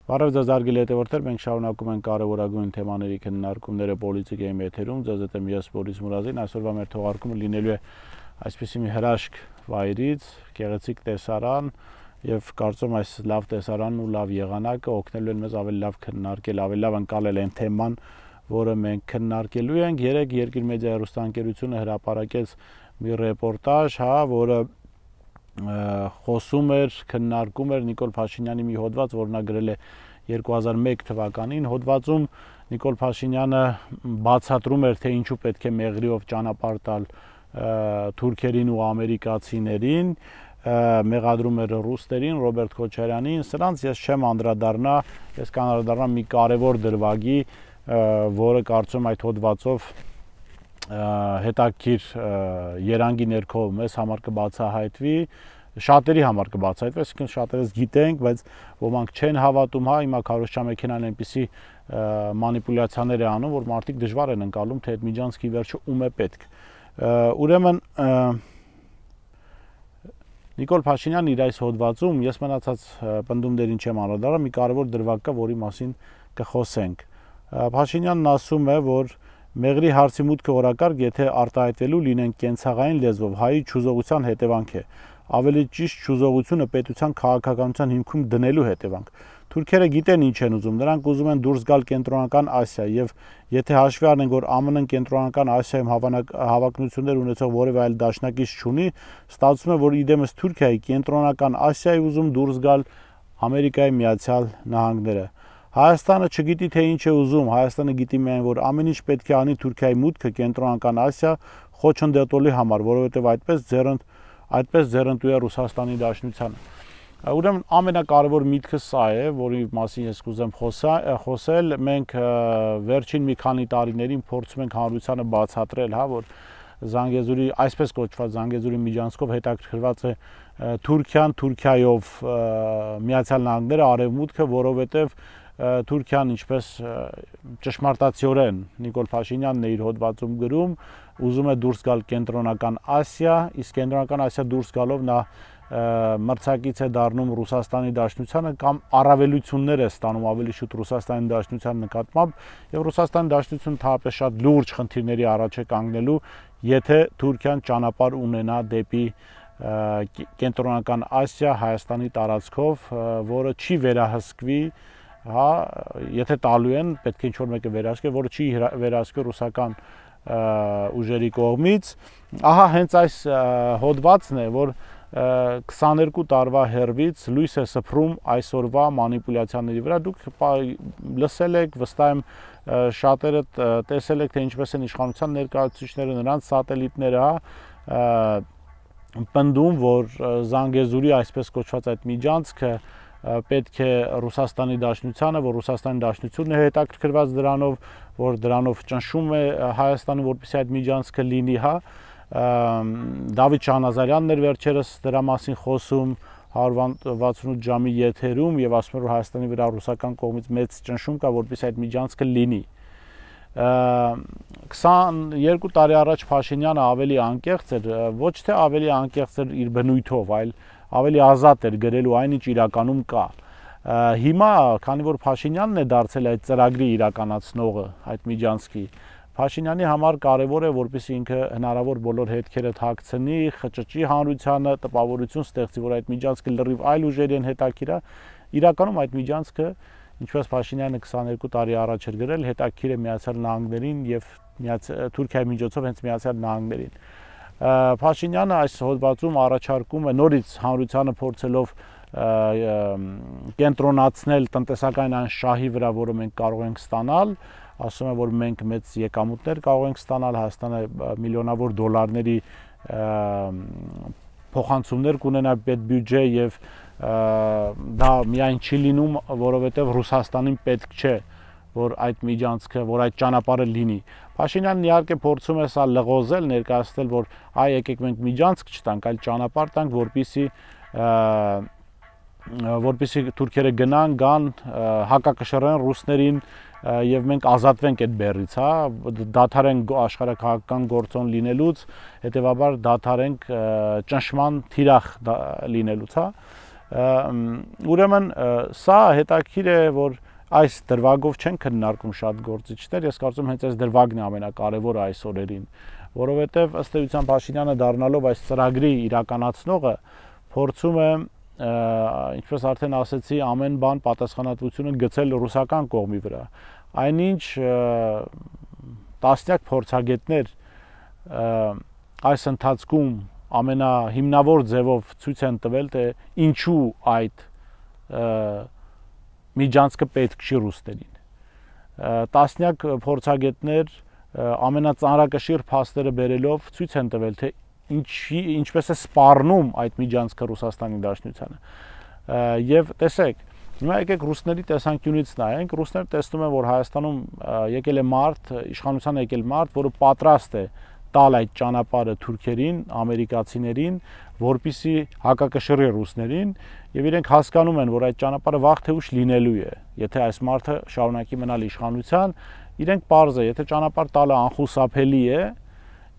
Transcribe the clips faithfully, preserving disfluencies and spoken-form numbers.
Բարև ձեզ հարգելի հետևորդներ, մենք շարունակում ենք կարևորագույն թեմաների քննարկումները Պոլիտիկայի եթերում, ձեզ հետ եմ ես Բորիս Մուրադին, այսօրվա մեր թողարկումը լինելու է այսպիսի մի հրաշք վայրից, գեղեցիկ տեսարան, եւ կարծում այս լավ տեսարանն ու լավ եղանակը օգնելու են մեզ ավելի լավ քննարկել, ավելի լավ անցնել այն թեման, որը մենք քննարկելու ենք։ Երեք Երկիր մեդիա հեռուստաընկերությունը հրապարակեց մի ռեպորտաժ, հա, որը խոսում էր, քննարկում էր Նիկոլ Փաշինյանի մի հոդված, որ նա գրել է երկու հազար մեկ թվականին։ Հոդվածում Նիկոլ Փաշինյանը բացատրում էր, թե ինչու պետք է մեղրիով ճանապարհ տալ թուրքերին ու ամերիկացիներին, մեղադրում էր ռուսներին, Ռոբերտ Քոչարյանին։ Սրանց ես չեմ անդրադառնա, ես կանդրադառնամ մի կարևոր դրվագի, որը կարծում այդ հոդվածով հետաքրքիր երանգի ներքո մեզ համար կբացահայտվի, շատերի համար կբացահայտվի, այսինքն շատերս գիտենք, բայց ոմանք չեն հավատում, հա, հիմա քարոզչամեքենան այնպիսի մանիպուլյացիաներ է անում, որ մարդիկ դժվար են ընկալում, թե այդ միջանցքի վերջը ում է պետք։ Ուրեմն Նիկոլ Փաշինյանն իր այս հոդվածում, ես մնացած պնդումներին չեմ անդրադառնա, մի կարևոր դրվագ կա, որի մասին կխոսենք։ Փաշինյանն ասում է, որ մեղրի հարցի մուտքը օրակարգ, եթե արտահայտվելու լինեն կենցաղային լեզվով, հայի չուզողության հետևանք է, ավելի ճիշտ չուզողությունը պետության քաղաքականության հիմքում դնելու հետևանք։ Թուրքերը գիտեն ինչ են ուզում, նրանք ուզում են դուրս գալ կենտրոնական Ասիա, եւ եթե հաշվի առնենք, որ ԱՄՆ-ն կենտրոնական Ասիայում հավակնություններ ունեցող որևէ այլ դաշնակից չունի, ստացվում է, որ իդեմս Թուրքիայի կենտրոնական Ասիայի ուզում դուրս գալ Ամերիկայի Միացյալ Նահանգները։ Հայաստանը չգիտի, թե ինչ է ուզում, Հայաստանը գիտի միայն, որ ամեն ինչ պետք է անի Թուրքիայի մուտքը կենտրոնական Ասիա խոչընդոտելու համար, որովհետև այդպես ձեռընդ այդպես ձեռնտու է Ռուսաստանի Դաշնությանը։ Ուրեմն ամենակարևոր միտքը սա է, որի մասին ես կուզեմ խոսել, մենք վերջին մի քանի տարիներին փորձում ենք հանրությանը բացատրել, հա, որ Զանգեզուրի, այսպես կոչված Զանգեզուրի միջանցքով հետաքրքրված է Թուրքիան, Թուրքիայով Միացյալ Նահանգները, Արևմուտքը, որովհետև Թուրքիան, ինչպես ճշմարտացիորեն Նիկոլ Փաշինյանն է իր հոդվածում գրում, ուզում է դուրս գալ կենտրոնական Ասիա, իսկ կենտրոնական Ասիա դուրս գալով նա մրցակից է դառնում Ռուսաստանի Դաշնությանը կամ առավելություններ է ստանում ավելի շուտ Ռուսաստանի Դաշնության նկատմամբ, եւ Ռուսաստանի Դաշնությունը թափե շատ լուրջ խնդիրների առաջ է կանգնելու, եթե Թուրքիան ճանապարհ ունենա դեպի կենտրոնական Ասիա Հայաստանի տարածքով, որը չի վերահսկվի, հա, եթե տալու են, պետք է ինչ-որ մեկը վերահսկի, որը չի վերահսկվի ռուսական ուժերի կողմից։ Ահա հենց այս հոդվածն է, որ քսաներկու տարվա հեռվից լույս է սփռում այսօրվա մանիպուլյացիաների վրա։ Դուք լսել եք, վստահ եմ շատերը տեսել եք, թե ինչպես են իշխանության ներկայացուցիչները, նրանց սատելիտները, հա, պնդում, որ Զանգեզուրի այսպես կոչված այդ միջանցքը պետք է Ռուսաստանի Դաշնությանը, որ Ռուսաստանի Դաշնությունն է հետաքրքրված դրանով, որ դրանով ճնշում է Հայաստանը, որպեսզի այդ միջանցքը լինի, հա, Դավիթ Շահնազարյանն էր վերջերս դրա մասին խոսում հարյուր վաթսունութ ժամի եթերում եւ ասում էր, որ Հայաստանի վրա ռուսական կողմից մեծ ճնշում կա, որպեսզի այդ միջանցքը լինի։ քսաներկու տարի առաջ Փաշինյանը ավելի անկեղծ էր, ոչ թե ավելի անկեղծ էր իր բնույթով, այլ ավելի ազատ էր գրելու այն, ինչ իրականում կա։ Հիմա, քանի որ Փաշինյանն է դարձել այդ ծրագրի իրականացնողը, այդ միջանցքի, Փաշինյանի համար կարևոր է, որպեսզի ինքը հնարավոր բոլոր հետքերը թաքցնի, խճճի հանրությանը, տպավորություն ստեղծի, որ այդ միջանցքը լրիվ այլ ուժերի են հետաքրքիր է։ Իրականում այդ միջանցքը, ինչպես Փաշինյանը քսաներկու տարի առաջ էր գրել, հետաքրքիր է Միացյալ Նահանգներին եւ Թուրքիայի միջոցով հենց Միացյալ Նահանգներին։ Փաշինյանը այս հոդվածում առաջարկում է նորից հանրությանը փորձելով կենտրոնացնել տնտեսական այն շահի վրա, որը մենք կարող ենք ստանալ, ասում է, որ մենք մեծ եկամուտներ կարող ենք ստանալ, Հայաստանը միլիոնավոր դոլարների փոխանցումներ կունենա պետբյուջե եւ դա միայն չի լինում, որովհետեւ Ռուսաստանին պետք չէ, որ այդ միջանցքը, որ այդ ճանապարհը լինի։ Փաշինյանն իհարկե փորձում է սա լղոզել, ներկայացնել, որ այ եկեք մենք միջանցք չտանք, այլ ճանապարհ տանք, որպեսզի որպեսզի թուրքերը գնան, գան, հակակշռեն ռուսներին, եւ մենք ազատվենք այդ բեռից, հա, դադարենք աշխարհակաղակական գործոն լինելուց, հետեւաբար դադարենք ճնշման թիրախ լինելուց, հա։ Ուրեմն սա հետաքրքիր է, որ այս դրվագով չեն քննարկում շատ գործիչներ, ես կարծում եմ հենց այս դրվագն է ամենակարևորը այս օրերին, որովհետեւ ըստ էության Փաշինյանը դառնալով այս ծրագրի իրականացնողը փորձում է, ինչպես արդեն ասեցի, ամեն բան պատասխանատվությունը գցել ռուսական կողմի վրա։ Այնինչ տասնյակ փորձագետներ այս ընթացքում ամենահիմնավոր ձևով ցույց են տվել, թե ինչու այդ միջանցքը պետք չի ռուսներին։ Տասնյակ փորձագետներ ամենածանրակշիռ փաստերը բերելով ցույց են տվել, թե ինչի ինչպես է սպառնում այդ միջանցքը Ռուսաստանի Դաշնությանը։ Եվ տեսեք, հիմա եկեք ռուսների տեսանկյունից նայենք, ռուսները տեսնում են, որ Հայաստանում եկել է մարդ, իշխանության եկել մարդ, որը պատրաստ է տալ այդ ճանապարհը թուրքերին, ամերիկացիներին, որպիսի հակակշռի ռուսներին, եւ իրենք հասկանում են, որ այդ ճանապարհը վաղ թե ուշ լինելու է։ Եթե այս մարդը շարունակի մնալ իշխանության, իրենք պարզ է, եթե ճանապարհ տալը անխուսափելի է,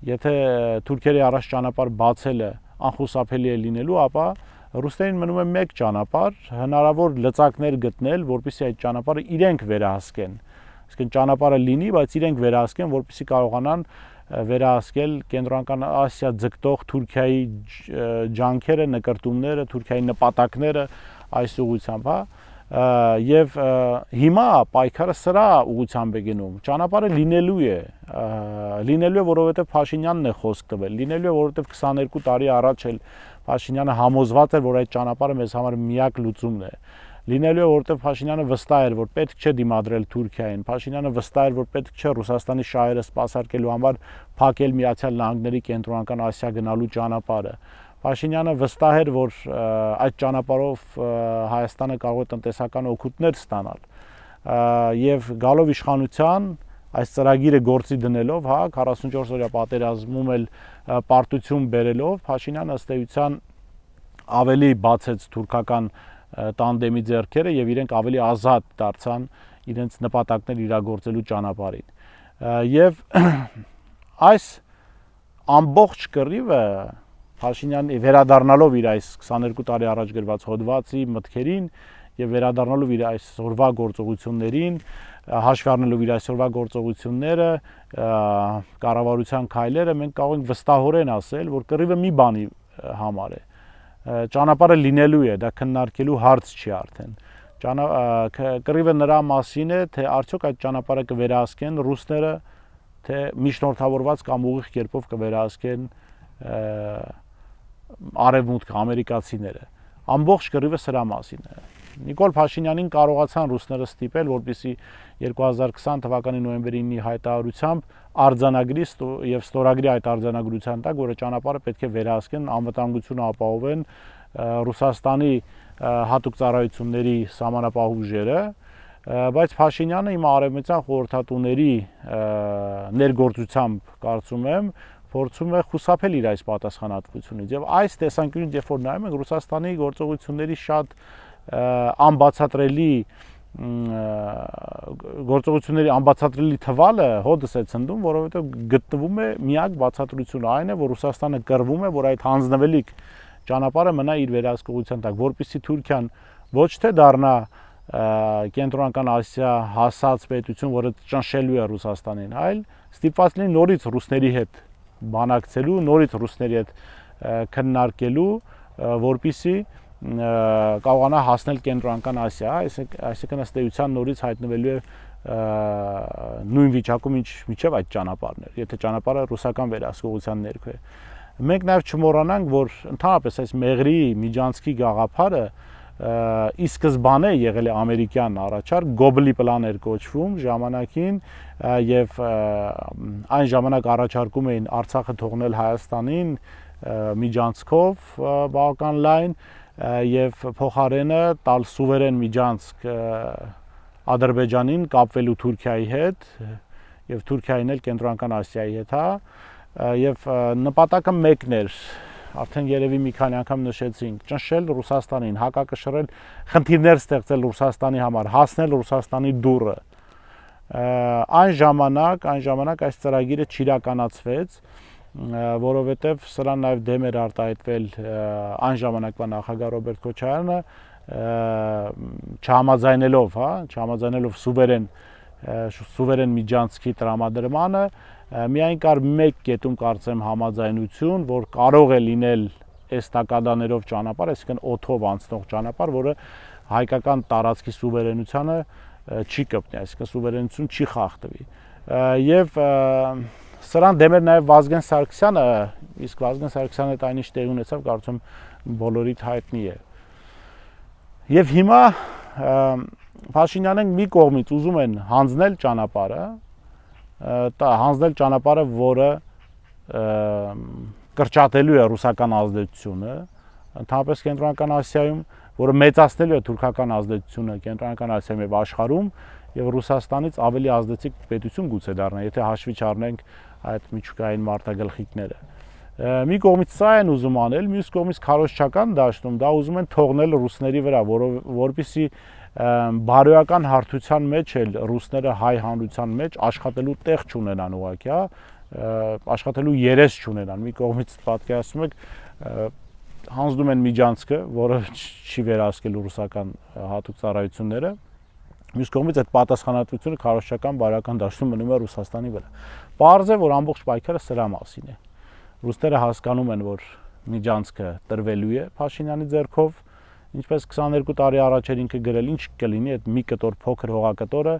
եթե թուրքերի առաջ ճանապարհ բացելը անխուսափելի է լինելու, ապա ռուսներին մնում է մեկ ճանապարհ, հնարավոր լծակներ գտնել, որպեսզի այդ ճանապարհը իրենք վերահսկեն։ Այսինքն ճանապարհը լինի, բայց իրենք վերահսկեն, որպեսզի կարողանան վերահսկել Կենտրոնական Ասիա ձգտող Թուրքիայի ջանքերը, նկարտումները, Թուրքիայի նպատակները այս ուղղությամբ, հա։ Եվ հիմա պայքարը սրա ուղղությամբ է գնում, ճանապարհը լինելու է, լինելու է, որովհետև Փաշինյանն է խոսք տվել, լինելու է, որովհետև քսաներկու տարի առաջ էլ Փաշինյանը համոզված էր, որ այդ ճանապարհը մեզ համար միակ լուծումն է, լինելու է, որովհետև Փաշինյանը վստահ էր, որ պետք չէ դիմադրել Թուրքիային, Փաշինյանը վստահ էր, որ պետք չէ Ռուսաստանի շահերը սպասարկելու համար փակել Միացյալ Նահանգների Կենտրոնական Ասիա գնալու ճանապարհը։ Փաշինյանը վստահ էր, որ այդ ճանապարհով Հայաստանը կարող է տնտեսական օգուտներ ստանալ։ Եվ գալով իշխանության, այս ծրագիրը գործի դնելով, հա, քառասունչորս օրյա պատերազմում էլ պարտություն բերելով, Փաշինյանը ըստ էության ավելի բացեց թուրքական տանդեմի ձեռքերը եւ իրենք ավելի ազատ դարձան իրենց նպատակներ իրագործելու ճանապարհին։ Եվ այս ամբողջ կռիվը Փաշինյանը վերադառնալով իր այս քսաներկու տարի առաջ գրված հոդվածի մտքերին եւ վերադառնալով իր այսօրվա գործողություններին, հաշվի առնելով իր այսօրվա գործողությունները, կառավարության քայլերը, մենք կարող ենք վստահորեն ասել, որ կռիվը մի բանի համար է։ Ճանապարհը լինելու է, դա քննարկելու հարց չի արդեն։ Կռիվը նրա մասին է, թե արդյոք այդ ճանապարհը կվերահսկեն ռուսները, թե միջնորդավորված կամ ուղիղ կերպով կվերահսկեն արևմուտք ամերիկացիները։ Ամբողջ կռիվը սրա մասին է։ Նիկոլ Փաշինյանին կարողացան ռուսները ստիպել, որպեսզի երկու հազար քսան թվականի նոյեմբերի ինի հայտարարությամբ արձանագրի եւ ստորագրի այդ արձանագրության տակ, որը ճանապարհը պետք է վերահսկեն, անվտանգությունը ապահովեն Ռուսաստանի հատուկ ծառայությունների սահմանապահ ուժերը, բայց Փաշինյանը իմ արևմտյան խորհրդատուների ներգործությամբ կարծում եմ փորձում է խուսափել իր այս պատասխանատվությունից եւ այս տեսանկյունից երբ որ նայում ենք Ռուսաստանի գործողությունների շատ անբացատրելի գործողությունների անբացատրելի թվալը հոդս է ցնդում, որովհետեւ գտնվում է միակ բացատրությունը այն է, որ Ռուսաստանը կռվում է, որ այդ հանձնվելիք ճանապարհը մնա իր վերահսկողության տակ, որպեսզի Թուրքիան ոչ թե դառնա Կենտրոնական Ասիա հասած պետություն, որը ճնշելու է Ռուսաստանին, այլ ստիպված լինի նորից ռուսների հետ բանակցելու, նորից ռուսների հետ քննարկելու, որպեսզի կարողանա հասնել Կենտրոնական Ասիա, այսինքն ըստ էության նորից հայտնվելու է նույն վիճակում, ինչ միջև այդ ճանապարհն էր, եթե ճանապարհը ռուսական վերահսկողության ներքո է։ Մենք նաև չմոռանանք, որ ընդհանրապես այս Մեղրի միջանցքի գաղափարը ի սկզբանե եղել է ամերիկյան առաջարկ, Գոբլի պլան էր կոչվում ժամանակին եւ այն ժամանակ առաջարկում էին Արցախը թողնել Հայաստանին միջանցքով բավական լայն եւ փոխարենը տալ սուվերեն միջանցք Ադրբեջանին կապվելու Թուրքիայի հետ եւ Թուրքիային էլ Կենտրոնական Ասիայի հետ, հա, եւ նպատակը մեկն էր, արդեն երևի մի քանի անգամ նշեցինք, ճնշել Ռուսաստանին, հակակշռել, խնդիրներ ստեղծել Ռուսաստանի համար, հասնել Ռուսաստանի դուռը։ Այն ժամանակ, այն ժամանակ այս ծրագիրը չիրականացվեց, որովհետև սրան նաև դեմ էր արտահայտվել այն ժամանակվա նախագահ Ռոբերտ Քոչարյանը, չհամաձայնելով, հա, չհամաձայնելով սուվերեն սուվերեն միջանցքի տրամադրմանը, միայն կար մեկ կետում կարծեմ համաձայնություն, որ կարող է լինել էստակադաներով ճանապարհ, այսինքն օդով անցնող ճանապարհ, որը հայկական տարածքի սուվերենությանը չի կպնի, այսինքն սուվերենություն չի խախտվի։ Եվ սրան դեմ էր նաև Վազգեն Սարգսյանը, իսկ Վազգեն Սարգսյանը այդ այնիշ տեղի ունեցավ, կարծում բոլորիդ հայտնի է։ Եվ հիմա Փաշինյանը մի կողմից ուզում են հանձնել ճանապարհը, հանձնել ճանապարհը, որը կրճատելու է ռուսական ազդեցությունը, ընդհանրապես Կենտրոնական Ասիայում, որը մեծացնելու է թուրքական ազդեցությունը Կենտրոնական Ասիայում եւ աշխարհում եւ Ռուսաստանից ավելի ազդեցիկ պետություն գուցե դառնա, եթե հաշվի չառնենք այդ միջուկային մարտագլխիկները։ Մի կողմից սա են ուզում անել, մյուս կողմից քարոզչական դաշտում դա ուզում են թողնել ռուսների վրա, որովհետեւ բարոյական հարթության մեջ էլ ռուսները հայ հանրության մեջ աշխատելու տեղ չունենան ուղղակի, հա, աշխատելու երես չունենան։ Մի կողմից պատկերացնում եք հանձնում են միջանցքը, որը չի վերահսկելու ռուսական հատուկ ծառայությունները, մյուս կողմից այդ պատասխանատվությունը քարոզչական բարոյական դաշտում մնում է Ռուսաստանի վրա։ Պարզ է, որ ամբողջ պայքարը սրա մասին է։ Ռուսները հասկանում են, որ միջանցքը տրվելու է Փաշինյանի ձեռքով, ինչպես քսաներկու տարի առաջ էր ինքը գրել, ինչ կլինի այդ մի կտոր փոքր հողակտորը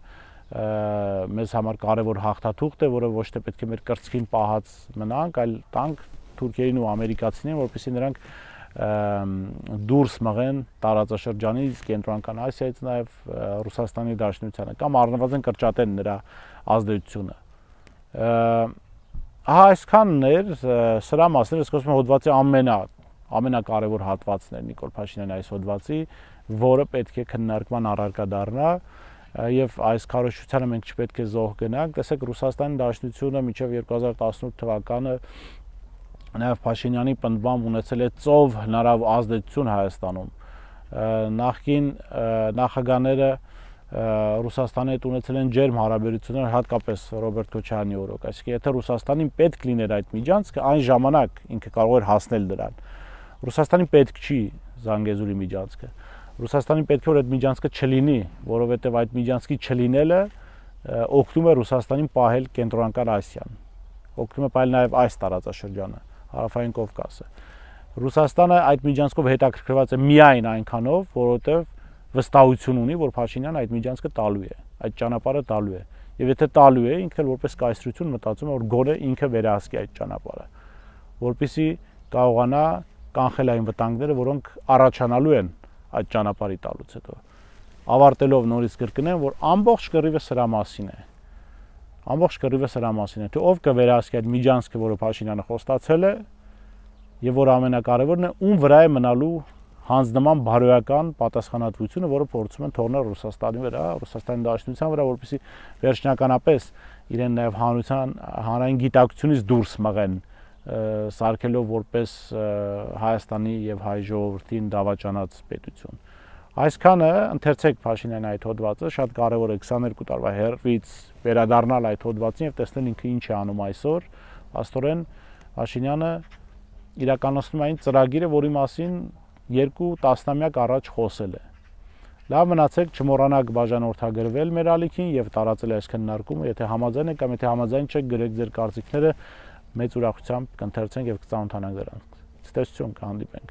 մեզ համար կարևոր հաղթաթուղթ է, որը ոչ թե պետք է մեր կրծքին պահած մնանք, այլ տանք թուրքերին ու ամերիկացիներին, որպեսզի նրանք դուրս մղեն տարածաշրջանից, Կենտրոնական Ասիայից, նաև Ռուսաստանի Դաշնությանը կամ առնվազն կրճատեն նրա ազդեցությունը։ Ահա այսքանն էր սրա մասին, ես խոսում եմ հոդվածի ամենա ամենակարևոր հատվածն է Նիկոլ Փաշինյանի այս հոդվածի, որը պետք է քննարկման առարկա դառնա, եւ այս քարոզչությանը մենք չպետք է զոհ գնանք։ Տեսեք, Ռուսաստանի Դաշնությունը մինչև երկու հազար տասնութ թվականը նաև Փաշինյանի պնդմամբ ունեցել է ծով հնարավ ազդեցություն Հայաստանում։ Նախկին նախագահները Ռուսաստանի հետ ունեցել են ջերմ հարաբերություններ, հատկապես Ռոբերտ Քոչարյանի օրոք։ Այսինքն, եթե Ռուսաստանին պետք լիներ այդ միջանցքը, այն ժամանակ ինքը կարող էր հասնել դրան։ Ռուսաստանին պետք չի Զանգեզուրի միջանցքը։ Ռուսաստանին պետք է որ այդ միջանցքը չլինի, որովհետև այդ միջանցքի չլինելը օգնում է Ռուսաստանին պահել Կենտրոնական Ասիան։ Օգնում է պահել նաև այս տարածաշրջանը, Հարավային Կովկասը։ Ռուսաստանը այդ միջանցքով հետաքրքրված է միայն այնքանով, որովհետև վստահություն ունի, որ Փաշինյանը այդ միջանցքը տալու է, այդ ճանապարհը տալու է։ Եվ եթե տալու է, ինքը որպես կայսրություն մտածում է, որ գոնե ինքը վերահսկի այդ ճանապարհը, որպեսզի կարողանա կանխել այն վտանգները, որոնք առաջանալու են այդ ճանապարհի տալուց հետո։ Ավարտելով նորից կրկնեմ, որ ամբողջ կռիվը սրա մասին է։ Ամբողջ կռիվը սրա մասին է, թե ով կվերահսկի այդ միջանցքը, որը Փաշինյանը խոստացել է, եւ որ ամենակարևորն է, ում վրա է մնալու հանձնման բարոյական պատասխանատվությունը, որը փորձում են թողնել Ռուսաստանի վրա, Ռուսաստանի Դաշնության վրա, որպեսզի վերջնականապես իրեն նաև հանրության հանրային գիտակցությունից դուրս մղեն, սարքելով որպես Հայաստանի եւ հայ ժողովրդին դավաճանած պետություն։ Այսքանը ընթերցեք Փաշինյանի այդ հոդվածը, շատ կարևոր է քսաներկու տարվա հերվից վերադառնալ այդ հոդվածին եւ տեսնել ինքը ինչ է անում այսօր։ Աստորեն Փաշինյանը իրականացնում է այն ծրագիրը, որի մասին երկու տասնամյակ առաջ խոսել է։ Լավ մնացեք, չմոռանաք բաժանորդագրվել մեր ալիքին եւ տարածել այս քննարկումը, եթե համաձայն եք կամ եթե համաձայն չեք, գրեք ձեր կարծիքները, մեծ ուրախությամբ կընթերցենք եւ կծանոթանանք դրանց։ Ցտեսություն, կհանդիպենք։